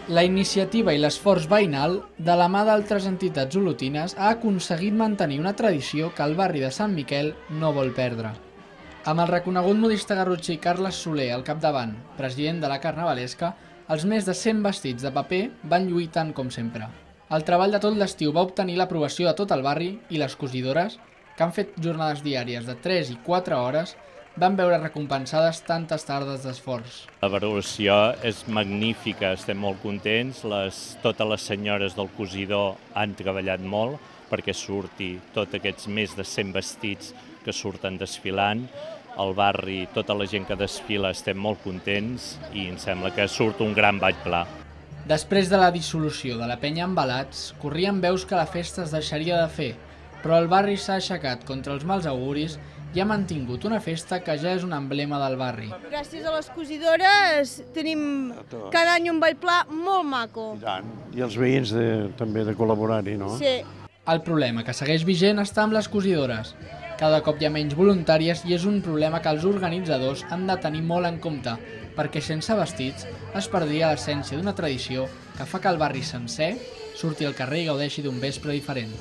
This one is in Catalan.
La iniciativa i l'esforç veïnal, de la mà d'altres entitats olotines, ha aconseguit mantenir una tradició que el barri de Sant Miquel no vol perdre. Amb el reconegut modista garrotxí Carles Soler al capdavant, president de la Carnavalesca, els més de 100 vestits de paper van lluir tant com sempre. El treball de tot l'estiu va obtenir l'aprovació de tot el barri i les cosidores, que han fet jornades diàries de 3 i 4 hores, van veure recompensades tantes tardes d'esforç. La valoració és magnífica, estem molt contents. Totes les senyores del cosidor han treballat molt perquè surti tots aquests més de 100 vestits que surten desfilant. Al barri, tota la gent que desfila estem molt contents i em sembla que surt un gran ball pla. Després de la dissolució de la penya Embalats, corrien veus que la festa es deixaria de fer, però el barri s'ha aixecat contra els mals auguris i ha mantingut una festa que ja és un emblema del barri. Gràcies a les cosidores tenim cada any un ball pla molt maco. I tant. I els veïns també de col·laborar-hi, no? Sí. El problema que segueix vigent està amb les cosidores. Cada cop hi ha menys voluntàries i és un problema que els organitzadors han de tenir molt en compte, perquè sense vestits es perdria l'essència d'una tradició que fa que el barri sencer surti al carrer i gaudeixi d'un vespre diferent.